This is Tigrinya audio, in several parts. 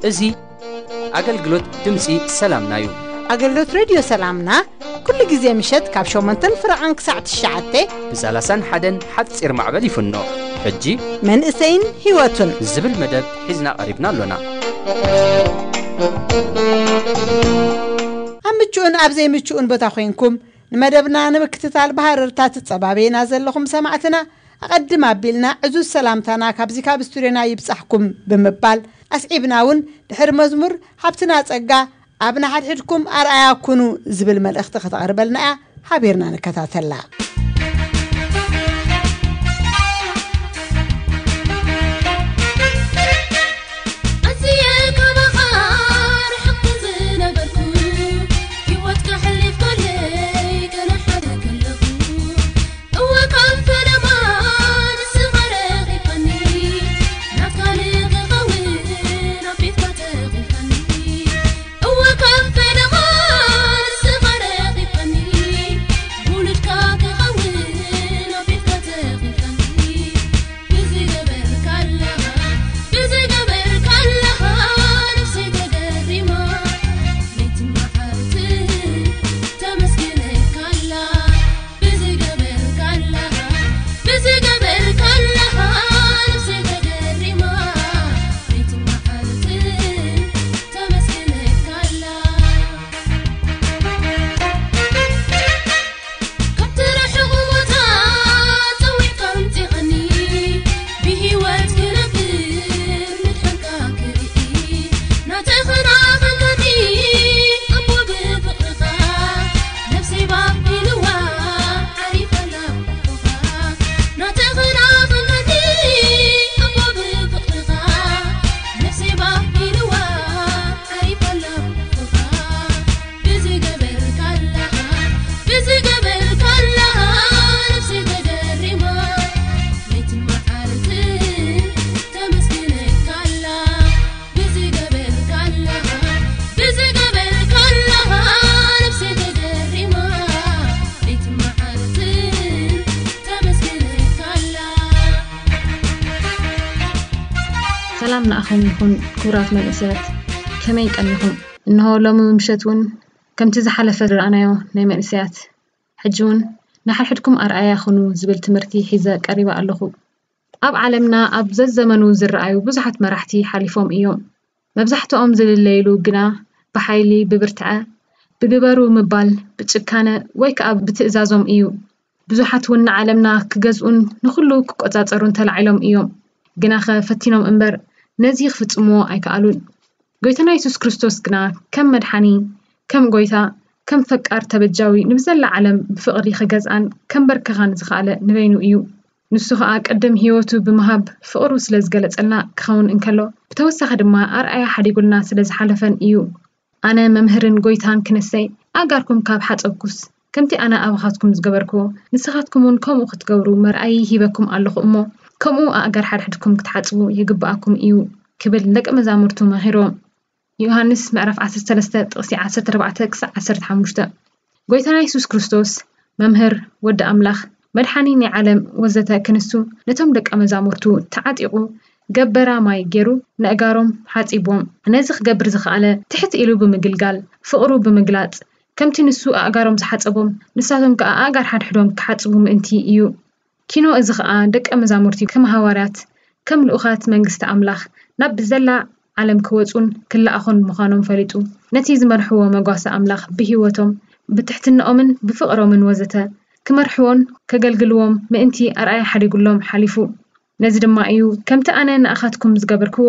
እዚ ኣገልግሎት ድምፂ ሰላምና እዩ። ኣገልግሎት ሬድዮ ሰላምና ኩሉ ግዜ ምሸት ካብ ሸሞንተን ፍረቓን ክሳዕ ትሽዓተ ብ ሰላሳን ሓደን ሓፂር ማዕበል ይፍኖ። ሕጂ መንእሰይን ህይወቱን ዝብል መደብ ሒዝና ቀሪብና ኣሎና። ኣብ ምቹእን ኣብ ዘይምቹእን ቦታ ኮይንኩም ንመደብና ንምክትታል ብሃረርታ ትጸባበዩና ዘለኹም ሰማዕትና፣ ኣቐድም ኣቢልና ዕዙዝ ሰላምታና ካብዚ ካብ ስቱድዮና ይብጻሕኩም ብምባል፣ ኣስዒብና እውን ድሕሪ መዝሙር ሃብትና ጸጋ ኣብ ንሓድሕድኩም ኣርኣያ ኩኑ ዝብል መልእኽቲ ከተቕርበልና እያ። ሓቢርና ንከታተላ። ኣዝየ ካባኻ ርሕቕ ዝነበርኩ፣ ህይወት ከሕልፍ ከለይ ገና ሓደ ከለኹ። እወ ካብ ፈለማ ንስኻ ረኺብካኒ፣ ናትካ ንኽኸውን ኣብ ቤትካ ተኺልካኒ። እወ ካብ ፈለማ ንስኻ ረኺብካኒ፣ ውሉድካ ክኸውን ኣብ ቤትካ ተኺልካኒ። ብዝገበርካላ፣ ብዝገበርካላ ነፍሰይ ተገሪማ፣ ለይትን መዓልትን ተመስግነካላ። ብዝገበርካላ፣ ብዝገበርካላ ነፍሰይ ተገሪማ፣ ለይትን መዓልትን ተመስግነካላ። ካብቲ ርሑቕ ቦታ ጸዊዕካ ኣምጺኻኒ፣ ብህይወት ክነብር ምድሓንካ ክርኢ። ናተይ ኽናኸንካኒ እሞ ብፍቕርኻ፣ ነፍሰይ ባቢልዋ ዓሪፋ ናብ ሕቑኻ። ናተይ ኽናኸንካኒ እሞ ብፍቕርኻ፣ ነፍሰይ ባቢልዋ ዓሪፋ ናብ ሕቑኻ። ብዝገበርካላ፣ ብዝገበርካላ ነፍሰይ ተገሪማ፣ ለይትን መዓልትን ተመስግነካላ። ብዝገበርካላ፣ ብዝገበርካላ ነፍሰይ ተገሪማ፣ ለይትን መዓልትን ተመስግነካላ። ሰላም ንኣኹም ይኹን ክቡራት መንእሰያት፣ ከመይ ቀኒኹም? እንሆ ሎሚ ምሸት እውን ከምቲ ዝሓለፈ ዝረኣናዮ ናይ መንእሰያት፣ ሕጂ እውን ንሓድሕድኩም ኣርኣያ ኩኑ ዝብል ትምህርቲ ሒዘ ቀሪበ ኣለኹ። ኣብ ዓለምና ኣብ ዘዘመኑ ዝረኣዩ ብዙሓት መራሕቲ ሓሊፎም እዮም። መብዛሕትኦም ዝልለይሉ ግና ብሓይሊ፣ ብብርትዐ፣ ብግበሩ ምባል፣ ብጭካነ ወይ ከኣ ብትእዛዞም እዩ። ብዙሓት እውን ንዓለምና ክገዝኡን ንኹሉ ክቆጻጸሩን ተላዒሎም እዮም። ግናኸ ፈቲኖም እምበር ነዚ ክፍጽምዎ ኣይከኣሉን። ጎይታና የሱስ ክርስቶስ ግና ከም መድሓኒ፣ ከም ጎይታ፣ ከም ፈቃር ተበጃዊ ንብዘላ ዓለም ብፍቕሪ ክገዝኣን ከንበርክኻን ዝኸኣለ ንበይኑ እዩ። ንሱ ኸኣ ቅድም ህይወቱ ብምሃብ ፍቕሩ ስለ ዝገለጸልና ክኸውን እንከሎ፣ ብተወሳኺ ድማ ኣርኣያ ሓዲጉልና ስለ ዝሓለፈን እዩ። ኣነ መምህርን ጎይታን ክንሰይ ኣእጋርኩም ካብ ሓጸብኩስ፣ ከምቲ ኣነ ኣባኻትኩም ዝገበርኩዎ፣ ንስኻትኩም እውን ከምኡ ክትገብሩ መርኣዪ ሂበኩም ኣለኹ እሞ፣ ከምኡ ኣእጋር ሓድሕድኩም ክትሓጽቡ ይግብኣኩም እዩ ክብል ንደቀ መዛሙርቱ መኺርዎም። ዮሃንስ ምዕራፍ ዓሰርተ ሰለስተ ጥቕሲ ዓሰርተ ኣርባዕተ ክሳዕ ዓሰርተ ሓሙሽተ። ጎይታና የሱስ ክርስቶስ መምህር፣ ወዲ ኣምላኽ፣ መድሓኒ ናይ ዓለም ወዘተ ክንሱ ነቶም ደቀ መዛሙርቱ ተዓጢቑ ገበራ ማይ ገይሩ ነእጋሮም ሓጺብዎም። ነዚ ክገብር ዝኸኣለ ትሕት ኢሉ ብምግልጋል፣ ፍቕሩ ብምግላጽ፣ ከምቲ ንሱ ኣእጋሮም ዝሓጸቦም ንሳቶም ከኣ ኣእጋር ሓድሕዶም ክሓጽቡ ምእንቲ እዩ። ኪኖ እዚ ኸኣ ደቀ መዛሙርቲ ከም ሃዋርያት፣ ከም ልኡኻት መንግስቲ ኣምላኽ ናብ ብዘላ ዓለም ክወጹን ክለኣኹን ምዃኖም ፈሊጡ፣ ነቲ ዝመርሕዎ መጓሰ ኣምላኽ ብህይወቶም፣ ብትሕትናኦምን ብፍቕሮምን ወዘተ ክመርሕዎን ከገልግልዎም ምእንቲ ኣርኣያ ሓዲጉሎም ሓሊፉ። ነዚ ድማ እዩ፣ "ከምቲ ኣነ ንኣኻትኩም ዝገበርክዎ፣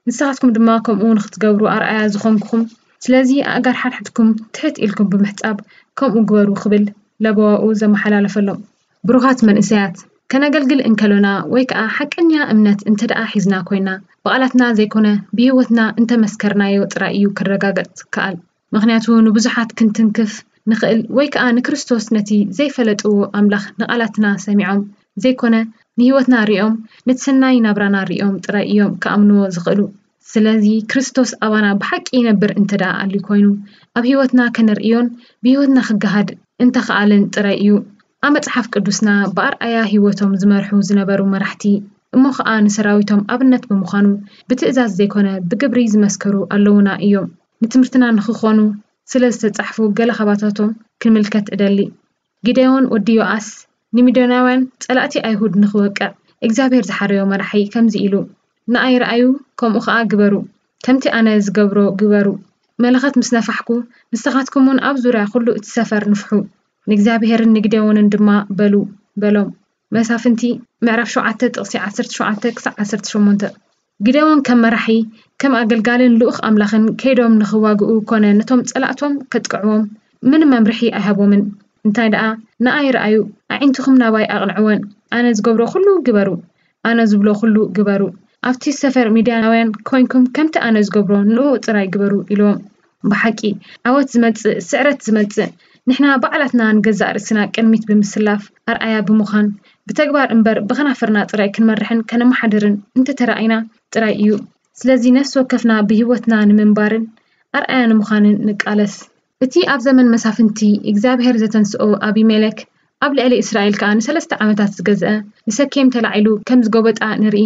ንስኻትኩም ድማ ከምኡ ንኽትገብሩ ኣርኣያ ዝኾንኩኹም። ስለዚ ኣእጋር ሓድሕድኩም ትሕት ኢልኩም ብምሕጻብ ከምኡ ግበሩ" ክብል ለበዋኡ ዘመሓላለፈሎም። ብሩኻት መንእሰያት፣ ከነገልግል እንከሎና ወይ ከኣ ሓቀኛ እምነት እንተ ደኣ ሒዝና ኮይና፣ ብቓላትና ዘይኮነ ብህይወትና እንተ መስከርናዮ ጥራይ እዩ ክረጋገጽ ዝከኣል። ምኽንያቱ ንብዙሓት ክንትንክፍ ንኽእል ወይ ከኣ ንክርስቶስ ነቲ ዘይፈለጥዎ ኣምላኽ ንቓላትና ሰሚዖም ዘይኮነ ንህይወትና ሪኦም፣ ነቲ ሰናይ ናብራና ሪኦም ጥራይ እዮም ክኣምንዎ ዝኽእሉ። ስለዚ ክርስቶስ ኣባና ብሓቂ ይነብር እንተ ደኣ ኣልዩ ኮይኑ፣ ኣብ ህይወትና ከነርእዮን ብህይወትና ክገሃድ እንተኸኣለን ጥራይ እዩ። ኣብ መጽሓፍ ቅዱስና ብኣርኣያ ህይወቶም ዝመርሑ ዝነበሩ መራሕቲ፣ እሞ ኸኣ ንሰራዊቶም ኣብነት ብምዃኑ ብትእዛዝ ዘይኮነ ብግብሪ ዝመስከሩ ኣለዉና እዮም። ንትምህርትና ንኽኾኑ ስለ ዝተጻሕፉ ገለ ካባታቶም ክንምልከት እደሊ። ጊዴዎን ወዲ ዮኣስ ንሚድያናውያን ጸላእቲ ኣይሁድ ንኽወቅዕ እግዚኣብሔር ዝሓረዮ መራሒ ከምዚ ኢሉ፣ ንኣይ ረኣዩ፣ ከምኡ ኸኣ ግበሩ፣ ከምቲ ኣነ ዝገብሮ ግበሩ። መለኸት ምስ ነፋሕኩ፣ ንስኻትኩም እውን ኣብ ዙርያ ኩሉ እቲ ሰፈር ንፍሑ፣ ንእግዚኣብሔርን ንጊዴዎንን ድማ በሉ በሎም። መሳፍንቲ ምዕራፍ ሸውዓተ ጥቕሲ ዓሰርተ ሸውዓተ ክሳዕ ዓሰርተ ሸሞንተ። ጊዴዎን ከም መራሒ፣ ከም ኣገልጋልን ልኡኽ ኣምላኽን ከይዶም ንኽዋግኡ ኮነ ነቶም ጸላእቶም ከጥቅዕዎም ምንም መምርሒ ኣይሃቦምን። እንታይ ደኣ፣ ንኣይ ረኣዩ፣ ኣዒንትኹም ናባይ ኣቕንዕወን፣ ኣነ ዝገብሮ ኩሉ ግበሩ፣ ኣነ ዝብሎ ኩሉ ግበሩ። ኣብቲ ሰፈር ሚድያናውያን ኮይንኩም ከምቲ ኣነ ዝገብሮ ንኡ ጥራይ ግበሩ ኢልዎም። ብሓቂ ዓወት ዝመጽእ፣ ስዕረት ዝመጽእ፣ ንሕና ባዕላትና ንገዛእ ርእስና ቅድሚት ብምስላፍ ኣርኣያ ብምዃን ብተግባር እምበር ብኸናፍርና ጥራይ ክንመርሕን ከነመሓድርን እንተተራኢና ጥራይ እዩ። ስለዚ ነፍሲ ወከፍና ብህይወትና ንምንባርን ኣርኣያ ንምዃንን ንቃለስ። እቲ ኣብ ዘመን መሳፍንቲ እግዚኣብሔር ዘተንስኦ ኣቢሜለክ ኣብ ልዕሊ እስራኤል ከኣ ንሰለስተ ዓመታት ዝገዝአ ንሰኬም ተላዒሉ ከም ዝጎበጣ ንርኢ።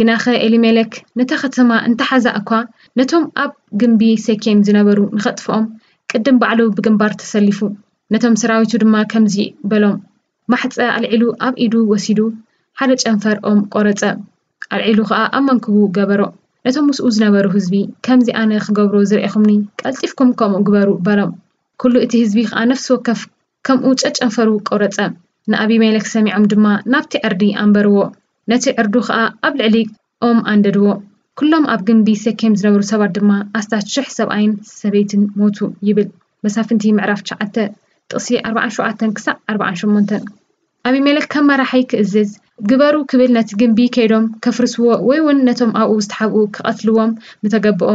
ግናኸ ኤሊሜለክ ነታ ከተማ እንተሓዛ እኳ ነቶም ኣብ ግምቢ ሰኬም ዝነበሩ ንኸጥፍኦም ቅድም ባዕሉ ብግንባር ተሰሊፉ። ነቶም ሰራዊቱ ድማ ከምዚ በሎም፣ ማሕጸ ኣልዒሉ ኣብ ኢዱ ወሲዱ ሓደ ጨንፈር ኦም ቆረጸ። ኣልዒሉ ኸኣ ኣብ መንክቡ ገበሮ። ነቶም ምስኡ ዝነበሩ ህዝቢ ከምዚ ኣነ ክገብሮ ዝርኤኹምኒ ቀልጢፍኩም ከምኡ ግበሩ በሎም። ኩሉ እቲ ህዝቢ ኸኣ ነፍሲ ወከፍ ከምኡ ጨጨንፈሩ ቆረጸ። ንኣቢሜለክ ሰሚዖም ድማ ናብቲ ዕርዲ ኣንበርዎ። ነቲ ዕርዱ ኸኣ ኣብ ልዕሊ ኦም ኣንደድዎ። ኩሎም ኣብ ግምቢ ሰኬም ዝነበሩ ሰባት ድማ ኣስታት ሽሕ ሰብኣይን ሰበይትን ሞቱ ይብል። መሳፍንቲ ምዕራፍ ትሽዓተ ጥቕሲ ኣርባዓን ሸውዓተን ክሳዕ ኣርባዓን ሸሞንተን። ኣቢሜለክ ከም መራሒ ክእዝዝ ግበሩ ክብል ነቲ ግምቢ ከይዶም ከፍርስዎ ወይ እውን ነቶም ኣብኡ ዝተሓብኡ ክቐትልዎም ምተገብኦ።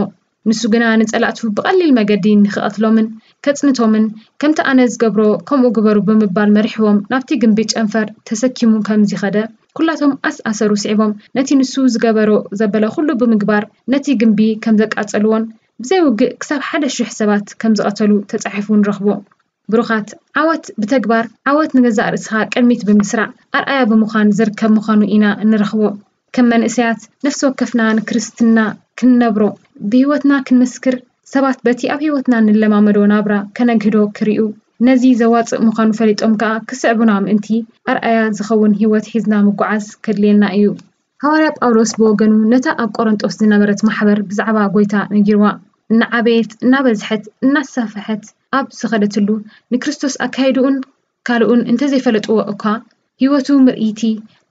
ንሱ ግና ንጸላእቱ ብቐሊል መገዲ ንኽቐትሎምን ከጽንቶምን ከምቲ ኣነ ዝገብሮ ከምኡ ግበሩ ብምባል መሪሕዎም ናብቲ ግምቢ ጨንፈር ተሰኪሙ ከም ዝኸደ ኩላቶም ኣስኣሰሩ ስዒቦም ነቲ ንሱ ዝገበሮ ዘበለ ኩሉ ብምግባር ነቲ ግምቢ ከም ዘቃጸልዎን ብዘይ ውግእ ክሳብ ሓደ ሽሕ ሰባት ከም ዝቐተሉ ተጻሒፉ ንረኽቦ። ብሩኻት ዓወት ብተግባር ዓወት ንገዛእ ርእስኻ ቅድሚት ብምስራዕ ኣርኣያ ብምዃን ዝርከብ ምዃኑ ኢና እንረኽቦ። ከም መንእሰያት ነፍሲ ወከፍና ንክርስትና ክንነብሮ ብህይወትና ክንምስክር ሰባት በቲ ኣብ ህይወትና ንለማመዶ ናብራ ከነግህዶ ክርእዩ ነዚ ዘዋጽእ ምዃኑ ፈሊጦም ከኣ ክስዕቡና ምእንቲ ኣርኣያ ዝኸውን ህይወት ሒዝና ምጓዓዝ ከድልየና እዩ። ሃዋርያ ጳውሎስ ብወገኑ ነታ ኣብ ቆሮንጦስ ዝነበረት ማሕበር ብዛዕባ ጎይታ ነጊርዋ። እናዓበየት እናበዝሐት እናሰፍሐት ኣብ ዝኸደትሉ ንክርስቶስ ኣካይድኡን ካልኡን እንተዘይፈለጥዎ እኳ ህይወቱ ምርእይቲ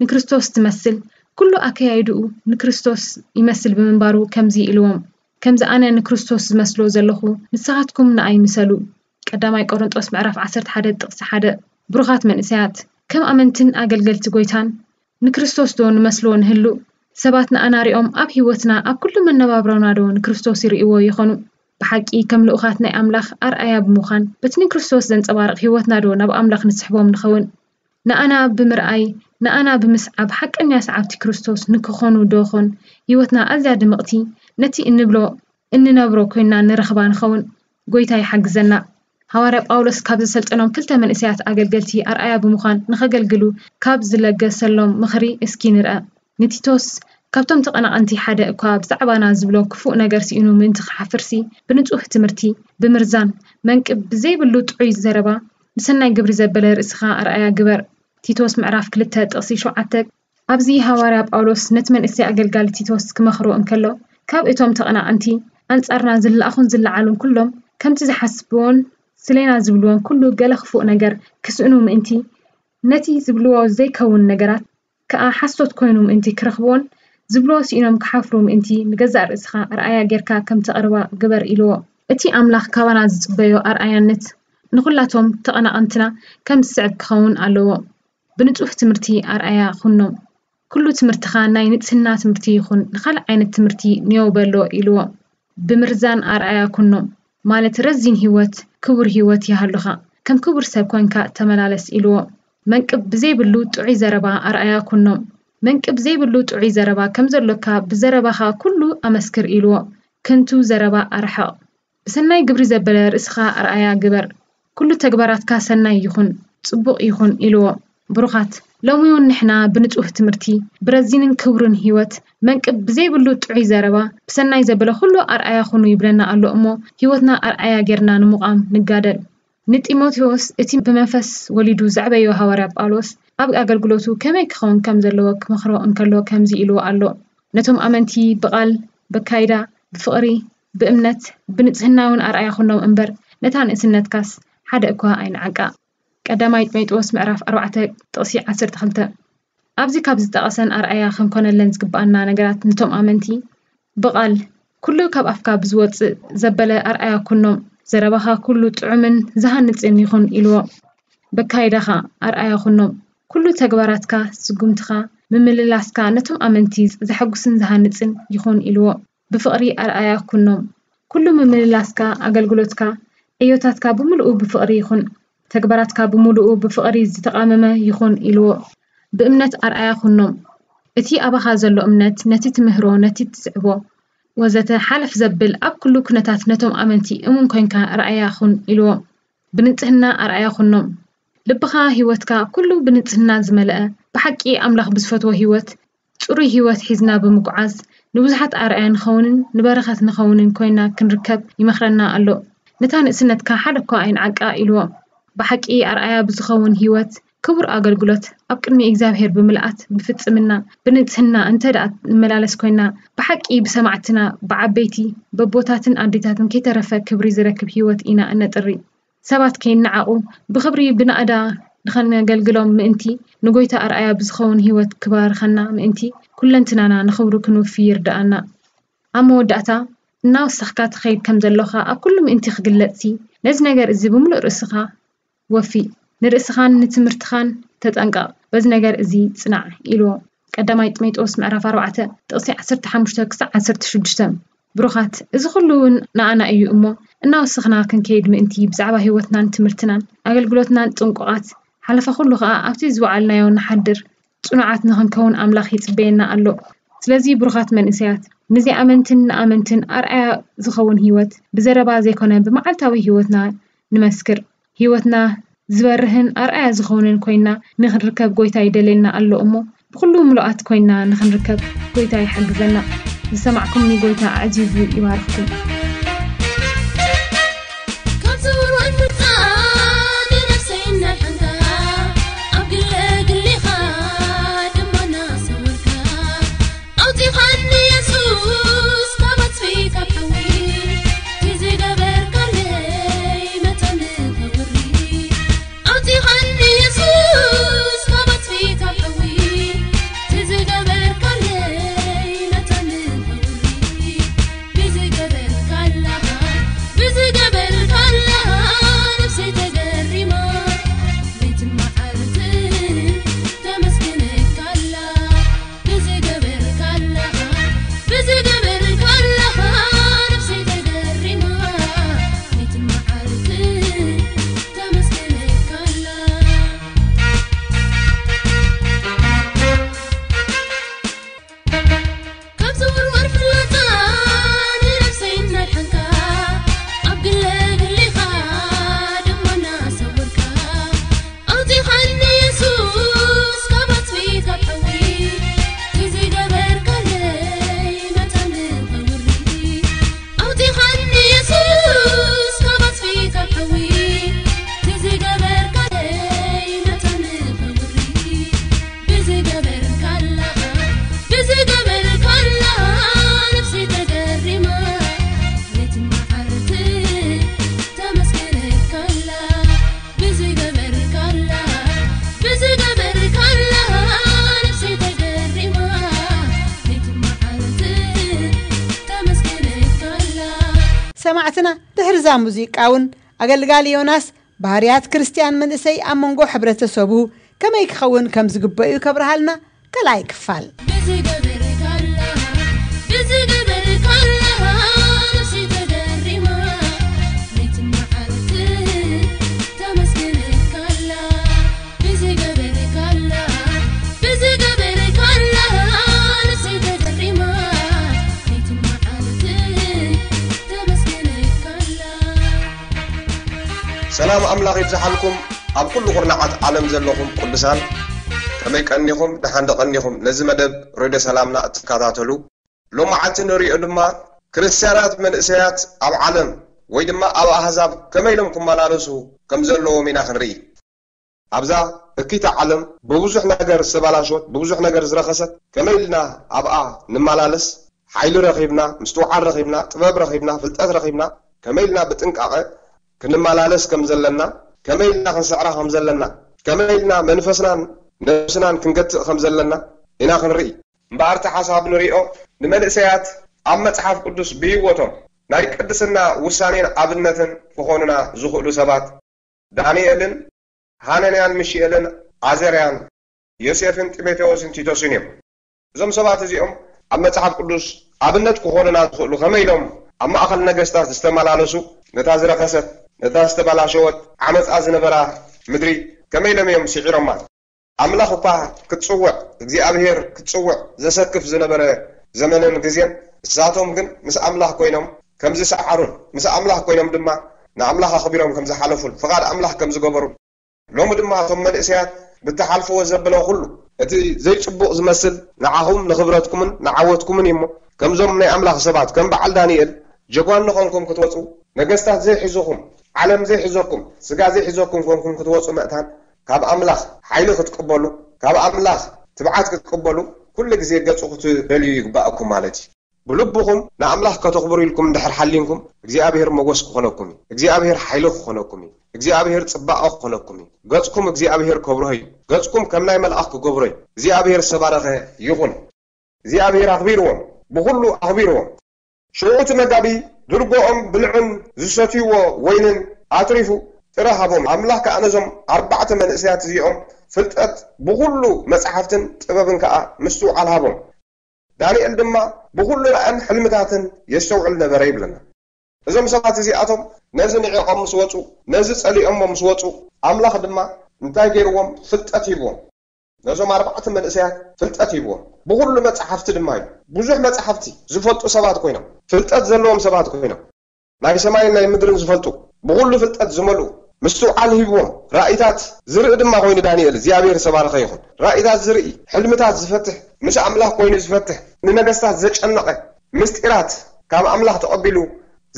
ንክርስቶስ ትመስል ኩሉ ኣካያይድኡ ንክርስቶስ ይመስል ብምንባሩ ከምዚ ኢልዎም፣ ከምዚ ኣነ ንክርስቶስ ዝመስሎ ዘለኹ ንስኻትኩም ንኣይ ምሰሉ። ቀዳማይ ቆሮንጦስ ምዕራፍ ዓሰርተ ሓደ ጥቕሲ ሓደ። ብሩኻት መንእሰያት ከም ኣመንትን ኣገልገልቲ ጎይታን ንክርስቶስ ዶ ንመስሎ ንህሉ? ሰባት ንኣና ሪኦም ኣብ ህይወትና ኣብ ኩሉ መነባብሮና ዶ ንክርስቶስ ይርእይዎ ይኾኑ? ብሓቂ ከም ልኡኻት ናይ ኣምላኽ ኣርኣያ ብምዃን በቲ ንክርስቶስ ዘንጸባርቕ ህይወትና ዶ ናብ ኣምላኽ ንስሕቦም ንኸውን? ንኣና ብምርኣይ ንኣና ብምስዓብ ሓቀኛ ሰዓብቲ ክርስቶስ ንክኾኑ ዶ ኾን ህይወትና ኣዝያ ድምቕቲ ነቲ እንብሎ እንነብሮ ኮይና ንረኽባ ንኸውን? ጎይታ ይሓግዘና። ሃዋርያ ጳውሎስ ካብ ዘሰልጠኖም ክልተ መንእሰያት ኣገልገልቲ ኣርኣያ ብምዃን ንኸገልግሉ ካብ ዝለገሰሎም ምኽሪ እስኪ ንርኣ። ንቲቶስ ካብቶም ተቐናቐንቲ ሓደ እኳ ብዛዕባና ዝብሎ ክፉእ ነገር ስኢኑ ምእንቲ ክሓፍርሲ ብንጹህ ትምህርቲ ብምርዛን መንቅብ ብዘይብሉ ጥዑይ ዘረባ ንሰናይ ግብሪ ዘበለ ርእስኻ ኣርኣያ ግበር። ቲቶስ ምዕራፍ ክልተ ጥቕሲ ሸውዓተ። ኣብዚ ሃዋርያ ጳውሎስ ነቲ መንእሰይ ኣገልጋሊ ቲቶስ ክመኽሮ እንከሎ ካብ እቶም ተቐናቐንቲ ኣንጻርና ዝለኣኹን ዝለዓሉን ኩሎም ከምቲ ዝሓስብዎን ስሌና ዝብልዎን ኩሉ ገለ ክፉእ ነገር ክስእኑ ምእንቲ ነቲ ዝብልዎ ዘይከውን ነገራት ከኣ ሓሶት ኮይኑ ምእንቲ ክረኽብዎን ዝብልዎ ስኢኖም ክሓፍሩ ምእንቲ ንገዛእ ርእስኻ ኣርኣያ ጌርካ ከም ተቕርባ ግበር ኢልዎ። እቲ ኣምላኽ ካባና ዝጽበዮ ኣርኣያነት ንኹላቶም ተቐናቐንትና ከም ዝስዕብ ክኸውን ኣለዎ። ብንጹህ ትምህርቲ ኣርኣያ ኩኖም። ኩሉ ትምህርትኻ ናይ ንጽህና ትምህርቲ ይኹን ንኻልእ ዓይነት ትምህርቲ ንዮ በሎ ኢልዎ። ብምርዛን ኣርኣያ ኩኖም። ማለት ረዚን ህይወት ክቡር ህይወት ይሃሉኻ ከም ክቡር ሰብ ኮንካ ተመላለስ ኢልዎ። መንቅብ ብዘይብሉ ጥዑይ ዘረባ ኣርኣያ ኩኖም። መንቅብ ዘይብሉ ጥዑይ ዘረባ ከም ዘሎካ ብዘረባኻ ኩሉ ኣመስክር ኢልዎ። ከንቱ ዘረባ ኣርሕቕ። ብሰናይ ግብሪ ዘበለ ርእስኻ ኣርኣያ ግበር። ኩሉ ተግባራትካ ሰናይ ይኹን፣ ጽቡቕ ይኹን ኢልዎ። ብሩኻት፣ ሎሚ እውን ንሕና ብንጹህ ትምህርቲ፣ ብረዚንን ክቡርን ህይወት፣ መንቅብ ብዘይብሉ ጥዑይ ዘረባ፣ ብሰናይ ዘበለ ኩሉ ኣርኣያ ኩኑ ይብለና ኣሎ እሞ፣ ህይወትና ኣርኣያ ጌርና ንምቋም ንጋደል። ንጢሞቴዎስ እቲ ብመንፈስ ወሊዱ ዘዕበዮ ሃዋርያ ጳውሎስ ኣብ ኣገልግሎቱ ከመይ ክኸውን ከም ዘለዎ ክመኽሮ እንከሎ ከምዚ ኢልዎ ኣሎ። ነቶም ኣመንቲ ብቓል፣ በካይዳ፣ ብፍቕሪ፣ ብእምነት፣ ብንጽህና እውን ኣርኣያ ኩኖም እምበር ነታ ንእስነትካስ ሓደ እኳ ኣይንዓቃ። ቀዳማይ ጢሞቴዎስ ምዕራፍ ኣርባዕተ ጥቕሲ ዓሰርተ ክልተ። ኣብዚ ካብ ዝጠቐሰን ኣርኣያ ክንኮነለን ዝግብኣና ነገራት ነቶም ኣመንቲ ብቓል ኩሉ ካብ ኣፍካ ብዝወጽእ ዘበለ ኣርኣያ ኩኖም። ዘረባኻ ኩሉ ጥዑምን ዝሃንጽን ይኹን ኢልዎ። በካይዳኻ ኣርኣያ ኩኖም። ኩሉ ተግባራትካ፣ ስጉምትኻ፣ ምምልላስካ ነቶም ኣመንቲ ዘሐጉስን ዝሃንጽን ይኹን ኢልዎ። ብፍቕሪ ኣርኣያ ኩኖም። ኩሉ ምምልላስካ፣ ኣገልግሎትካ፣ ዕዮታትካ ብምሉኡ ብፍቕሪ ይኹን። ተግባራትካ ብምሉኡ ብፍቕሪ ዝተቓመመ ይኹን ኢልዎ። ብእምነት ኣርኣያ ኩኖም። እቲ ኣባኻ ዘሎ እምነት ነቲ ትምህሮ፣ ነቲ ትስዕቦ ወዘተ ሓለፍ ዘብል ኣብ ኩሉ ኩነታት ነቶም ኣመንቲ እሙን ኮይንካ ኣርኣያ ኩን ኢልዎ። ብንጽህና ኣርኣያ ኩኖም። ልብኻ፣ ህይወትካ ኩሉ ብንጽህና ዝመልአ፣ ብሓቂ ኣምላኽ ብዝፈትዎ ህይወት፣ ጽሩይ ህይወት ሒዝና ብምጉዓዝ ንብዙሓት ኣርኣያ ንኸውንን ንበረኸት ንኸውንን ኮይና ክንርከብ ይመኽረና ኣሎ። ነታ ንእስነትካ ሓደ እኳ ኣይንዓቃ ኢልዎ። ብሓቂ ኣርኣያ ብዝኸውን ህይወት፣ ክቡር ኣገልግሎት ኣብ ቅድሚ እግዚኣብሔር ብምልኣት ብፍጽምና ብንጽህና እንተ ደኣ ንመላለስ ኮይና፣ ብሓቂ ብሰማዕትና ብዓበይቲ በቦታትን ኣዴታትን ከይተረፈ ክብሪ ዝረክብ ህይወት ኢና እነጥሪ። ሰባት ከይነዓቑ ብኽብሪ ብናእዳ ንኸነገልግሎም ምእንቲ፣ ንጎይታ ኣርኣያ ብዝኸውን ህይወት ክባርኸና ምእንቲ፣ ኩለንትናና ንኽብሩ ክንውፊ ይርድኣና። ኣብ መወዳእታ፣ እናወሰኽካ ትኸይድ ከም ዘሎኻ ኣብ ኩሉ ምእንቲ ክግለጽሲ፣ ነዚ ነገር እዚ ብምሉእ ርእስኻ ወፊ። ንርእስኻን ንትምህርትኻን ተጠንቀቕ። በዚ ነገር እዚ ጽናዕ ኢልዎ። ቀዳማይ ጢሞቴዎስ ምዕራፍ ኣርባዕተ ጥቕሲ ዓሰርተ ሓሙሽተ ክሳዕ ዓሰርተ ሽዱሽተ። ብሩኻት፣ እዚ ኩሉ እውን ንኣና እዩ እሞ፣ እናወሰኽና ክንከይድ ምእንቲ ብዛዕባ ህይወትናን ትምህርትናን ኣገልግሎትናን ጥንቁቓት፣ ሓለፋ ኩሉ ኸኣ ኣብቲ ዝወዓልናዮ ንሓድር ጽኑዓት ንኽንከውን ኣምላኽ ይጽበየና ኣሎ። ስለዚ ብሩኻት መንእሰያት፣ ንዘይኣመንትን ንኣመንትን ኣርኣያ ዝኸውን ህይወት ብዘረባ ዘይኮነ ብመዓልታዊ ህይወትና ንመስክር። ህይወትና ዝበርህን ኣርኣያ ዝኸውንን ኮይና ንኽንርከብ ጎይታ ይደልየና ኣሎ እሞ፣ ብኹሉ ምሉኣት ኮይና ንኽንርከብ ጎይታ ይሓግዘና። ዝሰማዕኩምኒ ጎይታ ኣዕዚዙ ይባርኽኩም። ካብ ስውር ፍጻሜ ነፍሰይ እናድሓንካ፣ ኣብ ግለ ግሊኻ ድማ እናሰወርካ፣ ኣውጺኻኒ የሱስ ካብ ኣጽፊ ካብ ሓዊ፣ እቲ ዝገበርካለይ መታን ክብሪ። ኣውጺኻኒ የሱስ ካብ ኣጽፊ ካብ ሓዊ፣ እቲ ዝገበርካለይ መታን ክብሪ። ብዝገበርካላ፣ ብዝገበርካላ ነፍሰይ ተገሪማ፣ ለይትን መዓልትን ተመስግነካላ። ብዝገበርካላ፣ ብዝገበርካላ ነፍሰይ ተገሪማ፣ ለይትን መዓልትን ተመስግነካላ። ካብ ዝውርወር ፍላጻ ንነፍሰይ እናድሓንካ፣ ኣብ ግለ ግሊኻ ድማ እናሰወርካ፣ ኣውጺኻኒ የሱስ ካብ ኣጽፊ ካብ ሓዊ፣ እቲ ዝገበርካለይ መታን ክብሪ። ኣውጺኻኒ የሱስ ካብ ኣጽፊ ካብ ሓዊ፣ እቲ ዝገበርካለይ መታን ክብሪ። ብዝገበርካላ፣ ብዝገበርካላ ነፍሰይ ተገሪማ፣ ለይትን መዓልትን ተመስግነካላ። ብዝገበርካላ፣ ብዝገበርካላ ነፍሰይ ተገሪማ፣ ለይትን መዓልትን ተመስግነካላ። ሰማዕትና፣ ድሕሪ እዛ ሙዚቃ እውን ኣገልጋሊ ዮናስ ባህርያት ክርስትያን መንእሰይ ኣብ መንጎ ሕብረተሰቡ ከመይ ክኸውን ከም ዝግበእ'ዩ ከብርሃልና ካልኣይ ክፋል። ብዝገበርካላ፣ ብዝገበርካላ ነፍሰይ ተገሪማ፣ ለይትን መዓልትን ተመስግነካላ። ብዝገበርካላ፣ ብዝገበርካላ ሰላም ኣምላኽ ይብዝሓልኩም። ኣብ ኩሉ ኩርናዓት ዓለም ዘለኹም ቅዱሳን፣ ከመይ ቀኒኹም? ደሓን ዶ ቀኒኹም? ነዚ መደብ ሬድዮ ሰላምና እትከታተሉ፣ ሎማዓንቲ ንሪኦ ድማ ክርስትያናት መንእሰያት ኣብ ዓለም ወይ ድማ ኣብ ኣህዛብ ከመይ ኢሎም ክመላለሱ ከም ዘለዎም ኢና ክንርኢ። ኣብዛ እኪታ ዓለም ብብዙሕ ነገር ዝተበላሸወት፣ ብብዙሕ ነገር ዝረኸሰት፣ ከመይ ኢልና ኣብኣ ንመላለስ? ሓይሊ ረኺብና፣ ምስትውዓል ረኺብና፣ ጥበብ ረኺብና፣ ፍልጠት ረኺብና፣ ከመይ ኢልና ብጥንቃቐ ክንመላለስ ከም ዘለና፣ ከመይ ኢልና ክንስዕራ ከም ዘለና፣ ከመይ ኢልና መንፈስናን ነብስናን ክንገትእ ከም ዘለና ኢና ክንርኢ። እምበኣር እቲ ሓሳብ ንሪኦ ንመንእሰያት ኣብ መጽሓፍ ቅዱስ ብህይወቶም ናይ ቅድስና ውሳኔን ኣብነትን ክኾኑና ዝኽእሉ ሰባት ዳንኤልን ሃነንያን ሚሽኤልን ዓዘርያን ዮሴፍን ጢሞቴዎስን ቲቶስን እዮም። እዞም ሰባት እዚኦም ኣብ መጽሓፍ ቅዱስ ኣብነት ክኾኑና ዝኽእሉ ከመይ ኢሎም ኣብ ማእከል ነገስታት ዝተመላለሱ፣ ነታ ዝረኸሰት፣ ነታ ዝተበላሸወት ዓመጻ ዝነበራ ምድሪ ከመይ ኢሎም እዮም ስዒሮማ? ኣምላኽ እኳ ክትጽውዕ፣ እግዚኣብሔር ክትጽውዕ ዘሰክፍ ዝነበረ ዘመንን ግዜን፣ ንሳቶም ግን ምስ ኣምላኽ ኮይኖም ከም ዝሰዓሩን ምስ ኣምላኽ ኮይኖም ድማ ንኣምላኽ ኣኽቢሮም ከም ዝሓለፉን ፍቓድ ኣምላኽ ከም ዝገበሩን፣ ሎሚ ድማ እቶም መንእሰያት ብትሓልፍዎ ዘበለ ኩሉ፣ እቲ ዘይጽቡቕ ዝመስል ንዓኹም ንኽብረትኩምን ንዓወትኩምን እዩ እሞ፣ ከምዞም ናይ ኣምላኽ ሰባት ከም በዓል ዳንኤል ጀጓኑ ኾንኩም ክትወጹ፣ ነገስታት ዘይሕዙኹም፣ ዓለም ዘይሕዘኩም፣ ስጋ ዘይሕዘኩም ኮንኩም ክትወጹ ምእንታን ካብ ኣምላኽ ሓይሊ ክትቅበሉ፣ ካብ ኣምላኽ ትብዓት ክትቅበሉ ኩሉ ግዜ ገጹ ክትደልዩ ይግባኣኩም ማለት እዩ። ብልብኹም ንኣምላኽ ከተኽብሩ ኢልኩም እንድሕር ሓሊንኩም እግዚኣብሔር ሞጎስ ክኾነኩም እዩ። እግዚኣብሔር ሓይሊ ክኾነኩም እዩ። እግዚኣብሔር ጽባቐ ክኾነኩም እዩ። ገጽኩም እግዚኣብሔር ከብርሆ እዩ። ገጽኩም ከም ናይ መልኣኽ ክገብሮ እዩ። እግዚኣብሔር ዝተባረኸ ይኹን። እግዚኣብሔር ኣኽቢርዎም፣ ብኹሉ ኣኽቢርዎም። ሽዑ እቲ መጋቢ ድርጎኦም ብልዕን ዝሰትይዎ ወይንን ኣትሪፉ ጥረ ሃቦም። ኣምላኽ ከኣ ነዞም ኣርባዕተ መንእሰያት እዚኦም ፍልጠት ብኹሉ መጻሕፍትን ጥበብን ከኣ ምስትውዓል ሃቦም። ዳንኤል ድማ ብኹሉ ራእን ሕልምታትን የስተውዕል ነበረ ይብለና። እዞም ሰባት እዚኣቶም ነዚ ንዒቖም ምስ ወጹ፣ ነዚ ጸሊኦሞ ምስ ወጹ፣ ኣምላኽ ድማ እንታይ ገይርዎም? ፍልጠት ሂብዎም። ነዞም ኣርባዕተ መንእሰያት ፍልጠት ሂብዎም። ብኹሉ መጻሕፍቲ ድማ እዩ። ብዙሕ መጻሕፍቲ ዝፈልጡ ሰባት ኮይኖም፣ ፍልጠት ዘለዎም ሰባት ኮይኖም፣ ናይ ሰማይን ናይ ምድርን ዝፈልጡ፣ ብኹሉ ፍልጠት ዝመልኡ፣ ምስትውዓል ሂብዎም። ራእይታት ዝርኢ ድማ ኮይኑ ዳንኤል፣ እግዚኣብሔር ዝተባረኸ ይኹን። ራእይታት ዝርኢ፣ ሕልምታት ዝፈትሕ፣ ምስ ኣምላኽ ኮይኑ ዝፈትሕ፣ ንነገስታት ዘጨነቐ፣ ምስጢራት ካብ ኣምላኽ ተቐቢሉ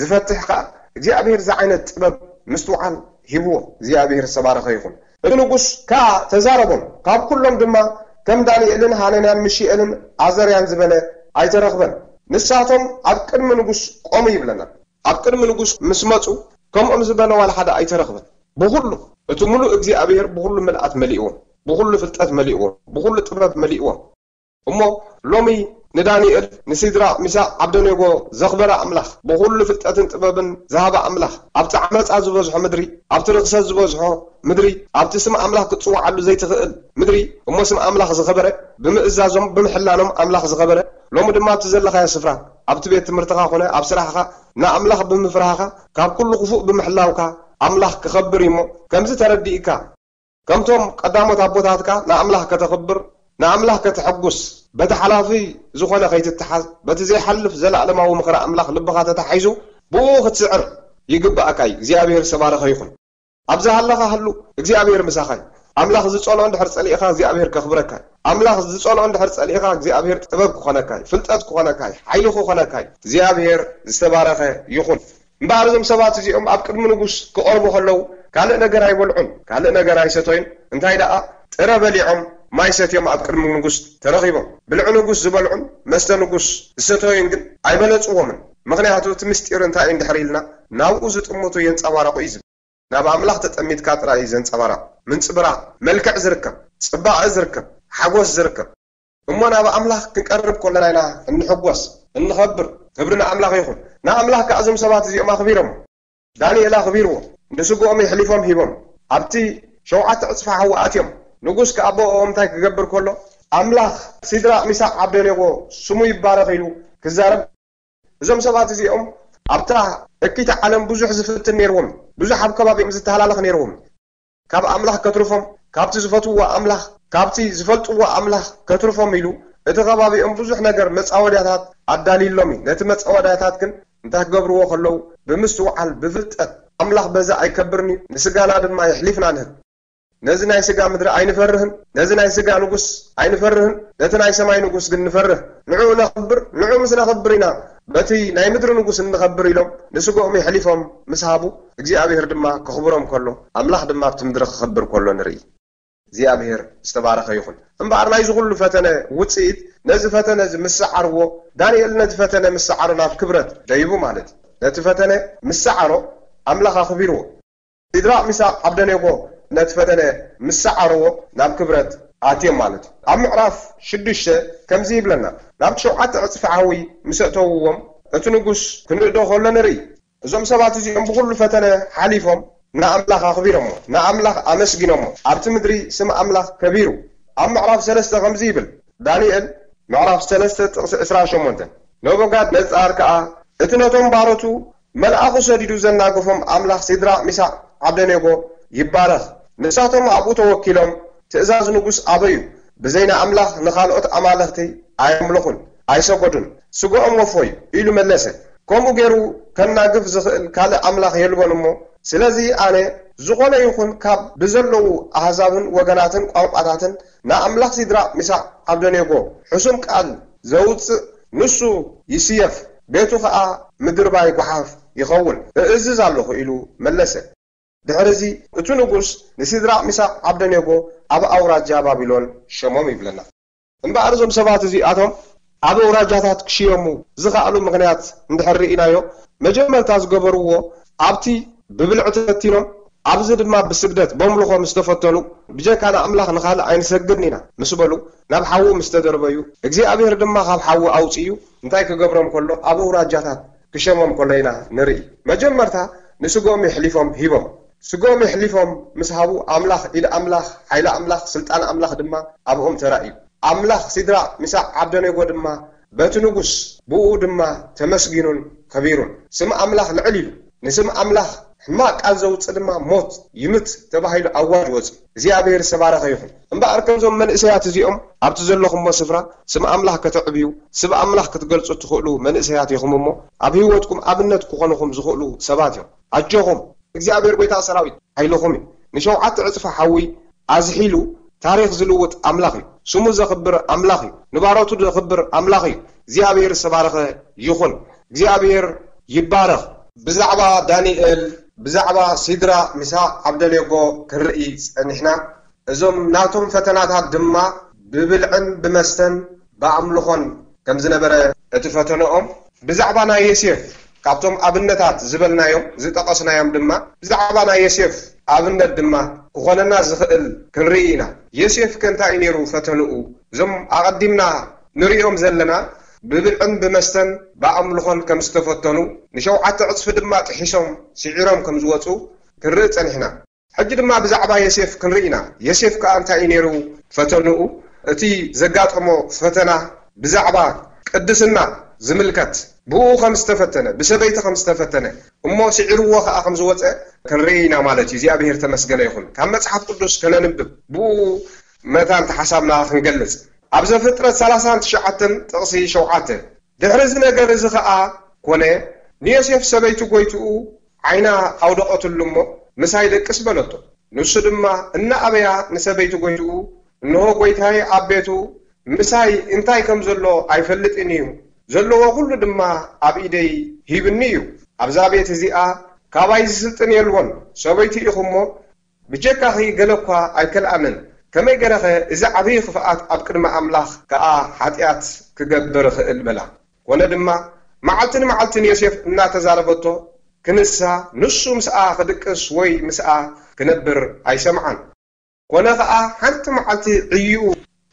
ዝፈትሕ ከኣ እግዚኣብሔር ዝዓይነት ጥበብ ምስትውዓል ሂብዎ። እግዚኣብሔር ዝተባረኸ ይኹን። እቲ ንጉስ ከኣ ተዛረቦም፣ ካብ ኩሎም ድማ ከም ዳንኤልን ሃነንያን ሚሽኤልን ኣዘርያን ዝበለ ኣይተረኽበን። ንሳቶም ኣብ ቅድሚ ንጉስ ቆሙ ይብለና። ኣብ ቅድሚ ንጉስ ምስ መጹ ከምኦም ዝበለ ዋላ ሓደ ኣይተረኽበን። ብኹሉ እቲ ምሉእ እግዚኣብሔር ብኹሉ ምልኣት መሊእዎም፣ ብኹሉ ፍልጠት መሊእዎም፣ ብኹሉ ጥበብ መሊእዎም። እሞ ሎሚ ንዳንኤል፣ ንሲድራቅ፣ ሚሳቅ፣ ዓብደኔጎ ዘኽበረ ኣምላኽ፣ ብኹሉ ፍልጠትን ጥበብን ዝሃበ ኣምላኽ፣ ኣብቲ ዓመጻ ዝበዝሖ ምድሪ፣ ኣብቲ ርኽሰት ዝበዝሖ ምድሪ፣ ኣብቲ ስም ኣምላኽ ክትጽውዓሉ ዘይትኽእል ምድሪ፣ እሞ ስም ኣምላኽ ዝኸበረ፣ ብምእዛዞም ብምሕላኖም ኣምላኽ ዝኸበረ፣ ሎሚ ድማ ኣብቲ ዘለኻዮ ስፍራ፣ ኣብቲ ቤት ትምህርትኻ ኮነ ኣብ ስራሕኻ ንኣምላኽ ብምፍርሃኻ፣ ካብ ኩሉ ክፉእ ብምሕላውካ ኣምላኽ ክኸብር እዩ እሞ፣ ከምዚ ተረዲእካ፣ ከምቶም ቀዳሞት ኣቦታትካ ንኣምላኽ ከተኽብር፣ ንኣምላኽ ከተሐጉስ፣ በቲ ሓላፊ ዝኾነ ከይትተሓዝ፣ በቲ ዘይሓልፍ ዘለኣለማዊ ምኽሪ ኣምላኽ ልብኻ ተታሒዙ ብኡ ክትስዕር ይግብኣካ እዩ። እግዚኣብሔር ዝተባረኸ ይኹን። ኣብ ዝሃለኻ ሃሉ፣ እግዚኣብሔር ምሳኻ እዩ። ኣምላኽ ዝጸልኦ እንድሕር ጸሊእኻ እግዚኣብሔር ከኽብረካ እዩ። ኣምላኽ ዝጸልኦ እንድሕር ጸሊእኻ እግዚኣብሔር ጥበብ ክኾነካ እዩ፣ ፍልጠት ክኾነካ እዩ፣ ሓይሊ ክኾነካ እዩ። እግዚኣብሔር ዝተባረኸ ይኹን። እምበኣር እዞም ሰባት እዚኦም ኣብ ቅድሚ ንጉስ ክቐርቡ ከለዉ ካልእ ነገር ኣይበልዑን፣ ካልእ ነገር ኣይሰተዩን። እንታይ ደኣ ጥረ በሊዖም ማይ ሰትዮም ኣብ ቅድሚ ንጉስ ተረኺቦም። ብልዒ ንጉስ ዝበልዑን መስተ ንጉስ ዝሰተዩን ግን ኣይበለጽዎምን። ምኽንያቱ እቲ ምስጢር እንታይ እዩ እንድሕር ኢልና ናብኡ ዝጥምቱ የንጸባረቑ እዩ ዝብል። ናብ ኣምላኽ ተጠሚትካ ጥራይ እዩ ዘንጸባርቕ። ምንጽብራቕ፣ መልክዕ ዝርከብ፣ ጽባቐ ዝርከብ፣ ሓጎስ ዝርከብ። እሞ ናብ ኣምላኽ ክንቀርብ ከለና ኢና እንሕጎስ፣ እንኸብር። ክብሪ ንኣምላኽ ይኹን። ንኣምላኽ ከኣ እዞም ሰባት እዚኦም ኣኽቢሮም። ዳንኤል ኣኽቢርዎ፣ ንስግኦም የሕሊፎም ሂቦም። ኣብቲ ሸውዓተ ዕጽፊ ሓዊ ኣትዮም። ንጉስ ከኣ ብኦም እንታይ ክገብር ከሎ፣ ኣምላኽ ሲድራቕ፣ ሚሳቕ፣ ዓብደኔጎ ስሙ ይባረኽ ኢሉ ክዛረብ። እዞም ሰባት እዚኦም ኣብታ እኪት ዓለም ብዙሕ ዝፍትን ነይርዎም፣ ብዙሕ ኣብ ከባቢኦም ዝተሃላለኽ ነይርዎም። ካብ ኣምላኽ ከትርፎም፣ ካብቲ ዝፈትውዎ ኣምላኽ፣ ካብቲ ዝፈልጥዎ ኣምላኽ ከትርፎም ኢሉ፣ እቲ ከባቢኦም ብዙሕ ነገር መጻወድያታት ኣዳልዩሎም እዩ። ነቲ መጻወድያታት ግን እንታይ ክገብርዎ ከለዉ፣ ብምስትውዓል፣ ብፍልጠት፣ ኣምላኽ በዛ ኣይከብርን እዩ፣ ንስጋና ድማ የሕሊፍና ንህብ። ነዚ ናይ ስጋ ምድሪ ኣይንፈርህን፣ ነዚ ናይ ስጋ ንጉስ ኣይንፈርህን፣ ነቲ ናይ ሰማይ ንጉስ ግን ንፈርህ። ንዕኡ ነኽብር፣ ንዕኡ ምስ ነኽብር ኢና በቲ ናይ ምድሪ ንጉስ እንኸብር ኢሎም ንስጋኦም የሕሊፎም ምስ ሃቡ፣ እግዚኣብሔር ድማ ከኽብሮም ከሎ፣ ኣምላኽ ድማ ኣብቲ ምድሪ ክኸብር ከሎ ንርኢ። እግዚኣብሔር ዝተባረኸ ይኹን። እምበኣር ናይዚ ኩሉ ፈተነ ውፅኢት፣ ነዚ ፈተነ እዚ ምስ ሰዓርዎ፣ ዳንኤል ነዚ ፈተነ ምስ ሰዓሮ ናብ ክብረት ደይቡ ማለት እዩ። ነቲ ፈተነ ምስ ሰዓሮ ኣምላኽ ኣኽቢርዎ። ሲድራቅ፣ ሚሳቅ፣ ዓብደኔጎ ነቲ ፈተነ ምስ ሰዓርዎ ናብ ክብረት ኣትዮም ማለት እዩ። ኣብ ምዕራፍ ሽዱሽተ ከምዚ ይብለና፣ ናብ ሸውዓተ ዕፅፊ ሓዊ ምስ ኣእተውዎም እቲ ንጉስ ክንእዶ ከሎ ንርኢ። እዞም ሰባት እዚኦም ብኹሉ ፈተነ ሓሊፎም ንኣምላኽ ኣኽቢሮሞ፣ ንኣምላኽ ኣመስጊኖሞ። ኣብቲ ምድሪ ስም ኣምላኽ ከቢሩ። ኣብ ምዕራፍ ሰለስተ ከምዚ ይብል፣ ዳንኤል ምዕራፍ ሰለስተ ጥቕሲ ዕስራን ሸሞንተን፣ ነቡጋድነጻር ከኣ እቲ ነቶም ባሮቱ መልኣኹ ሰዲዱ ዘናገፎም ኣምላኽ ሲድራቅ፣ ሚሳቅ፣ ዓብደኔጎ ይባረኽ። ንሳቶም ኣብኡ ተወኪሎም ትእዛዝ ንጉስ ኣበዩ። ብዘይ ንኣምላኽ ንኻልኦት ኣማልኽቲ ኣየምልኹን፣ ኣይሰገዱን። ስግኦም ወፎ እዩ ኢሉ መለሰ። ከምኡ ገይሩ ከናግፍ ዝኽእል ካልእ ኣምላኽ የልቦን እሞ፣ ስለዚ ኣነ ዝኾነ ይኹን ካብ ብዘለዉ ኣህዛብን ወገናትን ቋንቋታትን ንኣምላኽ ሲድራቅ፣ ሚሳቅ፣ ዓብደኔጎ ሕሱም ቃል ዘውጽእ ንሱ ይስየፍ፣ ቤቱ ኸኣ ምድርባይ ጓሓፍ ይኸውን፣ እእዝዝ ኣለኹ ኢሉ መለሰ። ድሕርዚ እቲ ንጉስ ንሲድራቅ፣ ሚሳቅ፣ ዓብደኔጎ ኣብ ኣውራጃ ባቢሎን ሸሞም ይብለና። እምበኣር እዞም ሰባት እዚኣቶም ኣብ ኣውራጃታት ክሽየሙ ዝኸኣሉ ምኽንያት እንድሕር ርኢናዮ፣ መጀመርታ ዝገበርዎ ኣብቲ ብብልዒ ተፈቲኖም፣ ኣብዚ ድማ ብስግደት በምልኾ ምስ ተፈተኑ፣ ብጀካ ንኣምላኽ ንኻልእ ኣይንሰግድን ኢና ምስ በሉ፣ ናብ ሓዊ ምስ ተደርበዩ፣ እግዚኣብሔር ድማ ካብ ሓዊ ኣውፅዩ እንታይ ክገብሮም ከሎ ኣብ ኣውራጃታት ክሸሞም ከሎ ኢና ንርኢ። መጀመርታ ንስግኦም የሕሊፎም ሂቦም። ስግኦም የሕሊፎም ምስ ሃቡ ኣምላኽ፣ ኢድ ኣምላኽ፣ ሓይሊ ኣምላኽ፣ ስልጣን ኣምላኽ ድማ ኣብኦም ተራእዩ። ኣምላኽ ሲድራቅ፣ ሚሳቅ፣ ዓብደኔጎ ድማ በቲ ንጉስ ብኡ ድማ ተመስጊኑን ከቢሩን። ስም ኣምላኽ ልዕል ኢሉ፣ ንስም ኣምላኽ ሕማቕ ቃል ዘውፅእ ድማ ሞት ይምት ተባሂሉ ኣዋጅ ወፂኡ። እግዚኣብሔር ዝተባረኸ ይኹን። እምበኣር ከምዞም መንእሰያት እዚኦም ኣብቲ ዘለኹሞ ስፍራ ስም ኣምላኽ ከተዕብዩ፣ ስም ኣምላኽ ክትገልጹ እትኽእሉ መንእሰያት ኢኹም እሞ፣ ኣብ ህይወትኩም ኣብነት ክኾኑኹም ዝኽእሉ ሰባት እዮም። ኣጆኹም፣ እግዚኣብሔር ጐይታ ሰራዊት ሓይልኹም እዩ። ንሸውዓተ ዕጽፊ ሓዊ ኣዝሒሉ ታሪኽ ዝልውጥ ኣምላኽ እዩ። ስሙ ዘኽብር ኣምላኽ እዩ። ንባሮቱ ዘኽብር ኣምላኽ እዩ። እግዚኣብሔር ዝተባረኸ ይኹን። እግዚኣብሔር ይባረኽ። ብዛዕባ ዳንኤል፣ ብዛዕባ ሲድራቅ፣ ሚሳቅ፣ ዓብደኔጎ ክንርኢ ጸኒሕና። እዞም ናቶም ፈተናታት ድማ ብብልዕን ብመስተን ብኣምልኾን ከም ዝነበረ እቲ ፈተነኦም። ብዛዕባ ናይ ዮሴፍ፣ ካብቶም ኣብነታት ዝበልናዮም፣ ዝጠቐስናዮም ድማ፣ ብዛዕባ ናይ ዮሴፍ ኣብነት ድማ ክኾነና ዝኽእል ክንርኢ ኢና። ዮሴፍ ከ እንታይ እዩ ነይሩ ፈተንኡ? እዞም ኣቐዲምና ንርእዮም ዘለና ብብልዕን ብመስተን ብኣምልኾን ከም ዝተፈተኑ፣ ንሸውዓተ ዕጽፊ ድማ ጥሒሶም ስዒሮም ከም ዝወጹ ክንርኢ ጸኒሕና። ሕጂ ድማ ብዛዕባ ዮሴፍ ክንርኢ ኢና። ዮሴፍ ከኣ እንታይ እዩ ነይሩ ፈተንኡ? እቲ ዘጋጠሞ ፈተና ብዛዕባ ቅድስና ዝምልከት፣ ብኡ ከም ዝተፈተነ፣ ብሰበይቲ ከም ዝተፈተነ፣ እሞ ስዒርዎ ከኣ ከም ዝወጸ ክንርኢ ኢና ማለት እዩ። እግዚኣብሔር ተመስገነ ይኹን። ካብ መጽሓፍ ቅዱስ ከነንብብ፣ ብኡ መታን ተሓሳብና ክንገልጽ። ኣብ ዘፍጥረት ሰላሳን ትሽዓተን ጥቕሲ ሸውዓተ፣ ድሕሪ እዚ ነገር እዚ ኸኣ ኮነ፣ ንዮሴፍ ሰበይቲ ጐይትኡ ዓይና ኣውደቐትሉ እሞ፣ "ምሳይ ደቅስ" በለቶ። ንሱ ድማ እናኣበያ ንሰበይቲ ጐይትኡ፣ "እንሆ ጐይታየ ኣብ ቤቱ ምሳይ እንታይ ከም ዘሎ ኣይፈልጥን እዩ፣ ዘለዎ ኹሉ ድማ ኣብ ኢደይ ሂብኒ እዩ። ኣብዛ ቤት እዚኣ ካባይ ዝስልጥን የልቦን። ሰበይቲ ኢኹ እሞ፣ ብጀካኺ ገለ እኳ ኣይከልኣንን። ከመይ ገይረኸ እዚ ዓብዪ ክፍኣት ኣብ ቅድሚ ኣምላኽ ከኣ ሓጢኣት ክገብር እኽእል?" በላ። ኮነ ድማ፣ መዓልቲ ንመዓልቲ ንዮሴፍ እናተዛረበቶ ክንሳ፣ ንሱ ምስኣ ክድቅስ ወይ ምስኣ ክነብር ኣይሰምዓን። ኮነ ኸኣ፣ ሓንቲ መዓልቲ ዕይኡ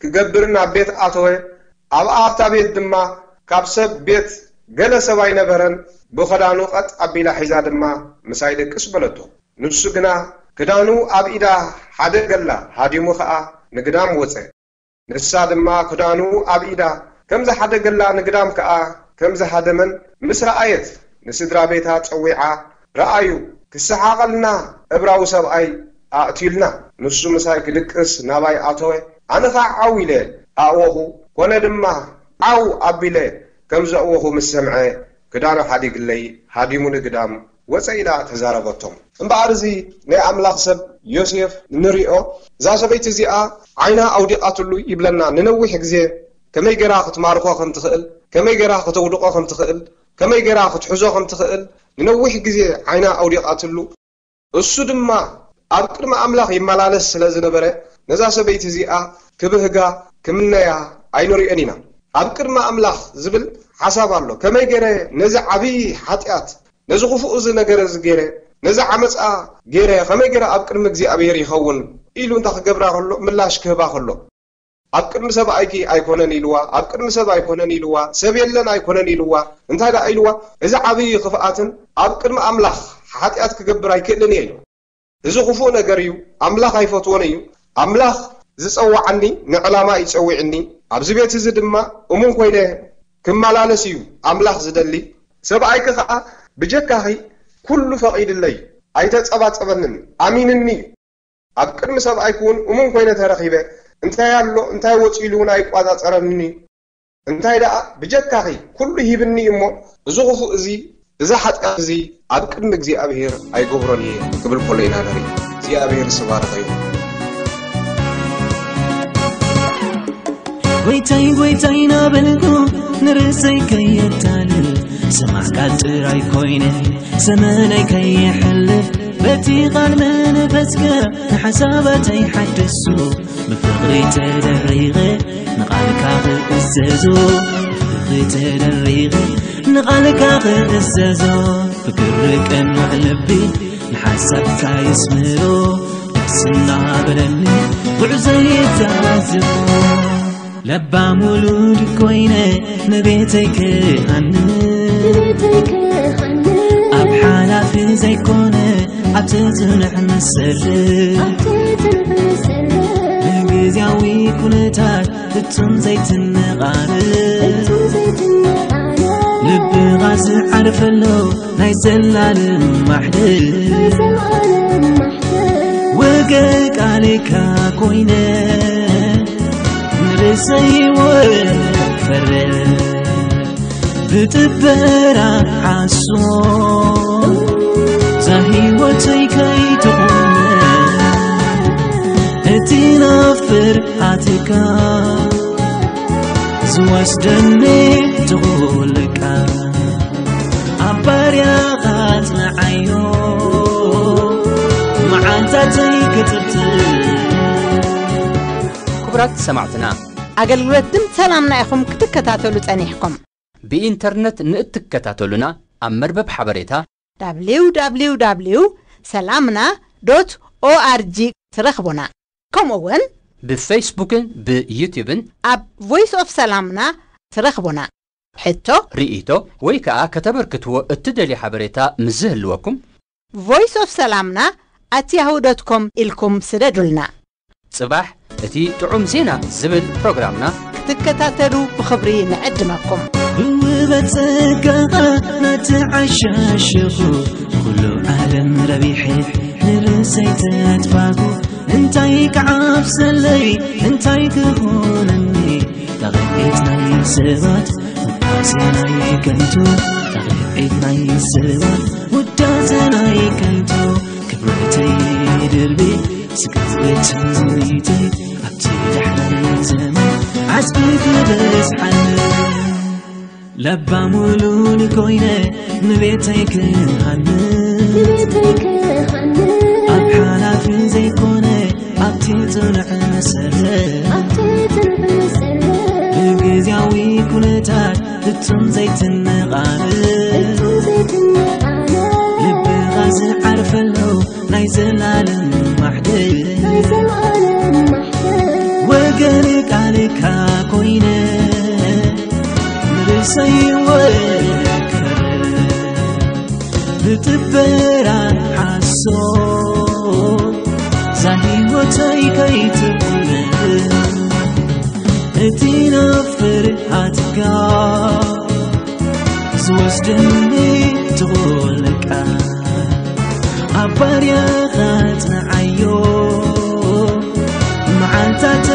ክገብር ናብ ቤት ኣተወ። ኣብኣ ኣብታ ቤት ድማ ካብ ሰብ ቤት ገለ ሰብ ኣይነበረን። ብኸዳኑ ቐጥ ኣቢላ ሒዛ ድማ፣ "ምሳይ ደቅስ" በለቶ። ንሱ ግና ክዳኑ ኣብ ኢዳ ሓደገላ፣ ሃዲሙ ኸኣ ንግዳም ወጸ። ንሳ ድማ ክዳኑ ኣብ ኢዳ ከም ዝሓደገላ፣ ንግዳም ከኣ ከም ዝሃደመን ምስ ረኣየት፣ ንስድራ ቤታ ጸዊዓ፣ "ረኣዩ፣ ክሰሓቐልና እብራዊ ሰብኣይ ኣእትዩልና። ንሱ ምሳይ ክድቅስ ናባይ ኣተወ፣ ኣነ ኸኣ ዓው ኢለ ኣእወኹ። ኮነ ድማ፣ ዓው ኣቢለ ከም ዘእወኹ ምስ ሰምዐ፣ ክዳኑ ሓዲግለይ፣ ሃዲሙ ንግዳም ወፀ ኢላ ተዛረበቶም። እምበኣር እዚ ናይ ኣምላኽ ሰብ ዮሴፍ ንሪኦ፣ እዛ ሰበይቲ እዚኣ ዓይና ኣውዲቓትሉ ይብለና። ንነዊሕ ግዜ ከመይ ገይራ ክትማርኾ ከም ትኽእል፣ ከመይ ገይራ ከተውድቖ ከም ትኽእል፣ ከመይ ገይራ ክትሕዞ ከም ትኽእል ንነዊሕ ግዜ ዓይና ኣውዲቓትሉ። እሱ ድማ ኣብ ቅድሚ ኣምላኽ ይመላለስ ስለ ዝነበረ፣ ነዛ ሰበይቲ እዚኣ ክብህጋ ክምነያ ኣይንሪኦን ኢና። ኣብ ቅድሚ ኣምላኽ ዝብል ሓሳብ ኣሎ። ከመይ ገይረ ነዚ ዓብዪ ሓጢኣት፣ ነዚ ክፉእ እዚ ነገር እዚ ገይረ፣ ነዚ ዓመፃ ገይረ ከመይ ገይረ ኣብ ቅድሚ እግዚኣብሔር ይኸውን ኢሉ እንተ ክገብራ ከሎ፣ ምላሽ ክህባ ከሎ፣ ኣብ ቅድሚ ሰብኣይኪ ኣይኮነን ኢልዋ፣ ኣብ ቅድሚ ሰብ ኣይኮነን ኢልዋ፣ ሰብ የለን ኣይኮነን ኢልዋ። እንታይ ደኣ ኢልዋ? እዚ ዓብዪ ክፍኣትን ኣብ ቅድሚ ኣምላኽ ሓጢኣት ክገብር ኣይክእልን እየ ኢልዋ። እዚ ክፉእ ነገር እዩ፣ ኣምላኽ ኣይፈትዎን እዩ። ኣምላኽ ዝጸውዓኒ ንዕላማ እዩ ጸዊዕኒ። ኣብዚ ቤት እዚ ድማ እሙን ኮይነ ክመላለስ እዩ ኣምላኽ ዝደሊ። ሰብኣይኪ ኸኣ ብጀካኺ ኩሉ ፈቒድለይ፣ ኣይተጸባጸበንን፣ ኣሚንኒ እዩ። ኣብ ቅድሚ ሰብኣይኪ እውን እሙን ኮይነ ተረኺበ፣ እንታይ ኣሎ እንታይ ወጺኡ ኢሉ እውን ኣይቋጻጸረንን እዩ። እንታይ ደኣ ብጀካኺ ኩሉ ሂብኒ እሞ፣ እዚ ክፉእ እዚ፣ እዚ ሓጢኣት እዚ ኣብ ቅድሚ እግዚኣብሔር ኣይገብሮን እየ ክብል ከሎ ኢና ንርኢ። እግዚኣብሔር ዝተባረኸ ይኹን። ጎይታይ ጎይታይ ናበልኩ ንርእሰይ ከየታልል፣ ስማዕ ቃል ጥራይ ኮይነ ዘመነይ ከየሕልፍ፣ በቲ ቃል መንፈስካ ንሓሳባተይ ሓድሱ። ብፍቕሪ ተደሪቐ ንቓልካ ክእዘዞ፣ ብፍቕሪ ተደሪቐ ንቓልካ ክእዘዞ። ፍቅሪ ቀኑዕ ልቢ ንሓሳብካ የስምሮ፣ ደስ እናበለኒ ጉዕዞ ይታዘቦ። ለባም ውሉድ ኮይነ ንቤተይ ክሃንጽ፣ ኣብ ሓላፊ ዘይኮነ ኣብቲ ጽኑዕ መሰረት፣ ብግዝያዊ ኩነታት ፍጹም ዘይትነቓነቕ፣ ልብኻ ዝዓርፈሉ ናይ ዘላለም ማሕደር፣ ወገን ቃልካ ኮይነ ንርእሰይ ወፈረ፣ ብጥበራ ዓሶ እዛ ህይወተይ ከይትቑመ፣ እቲ ናብ ፍርሃትካ ዝወስደኒ ትኹል ቃል፣ ኣብ ባርያኻ ኣጽንዓዮ መዓልታተይ ክጥጥእ። ክቡራት ሰማዕትና፣ ኣገልግሎት ድምፂ ሰላምና ኢኹም ክትከታተሉ ጸኒሕኩም። ብኢንተርነት ንእትከታተሉና ኣብ መርበብ ሓበሬታ www ሰላምና ዶት ኦኣርጂ ትረኽቡና። ከምኡ እውን ብፌስቡክን ብዩትዩብን ኣብ ቮይስ ኦፍ ሰላምና ትረኽቡና። ሕቶ፣ ርእይቶ ወይ ከኣ ከተበርክትዎ እትደልዩ ሓበሬታ ምስ ዝህልወኩም ቮይስ ኦፍ ሰላምና ኣት ያሁ ዶት ኮም ኢልኩም ስደዱልና። ጽባሕ እቲ ጥዑም ዜና ዝብል ፕሮግራምና ክትከታተሉ ብኽብሪ ንዕድመኩም። ብውበት ጸጋኻ ነቲ ዓሻ ሸኹ ኩሉ ዓለም ረቢሐ ንርእሰይ ተጥፋኹ። እንታይ ክዓብሰለይ እንታይ ክኾነኒ ጣቕዒት ናይ ሰባት ውዳሴ ናይ ከንቱ ጣቕዒት ናይ ሰባት ውዳሴ ናይ ከንቱ ክብረተይ ድርቢ ስግደት ትምኒተይ ኣብቲ ዳሕራይ ዘመን ዓስቢ ክበዝሓኒ ለባም ውሉድ ኮይነ ንቤተይ ክሃንጽ ኣብ ሓላፊ ዘይኮነ ኣብቲ ጽኑዕ መሰረት ብግዝያዊ ኩነታት ፍጹም ዘይትነቓነቕ ልብኻ ዝዓርፈሉ ናይ ዘላለም ማሕደር ወገን ቃልካ ኮይነ ንርእሰይ ወከር ብጥበራ ሓሶ ዛሂወተይ ከይትቁነ እቲ ናብ ፍርሃትካ ዝወስደኒ ትኾለካ ኣብ ባርያኻ ጽንዓዮ መዓልታት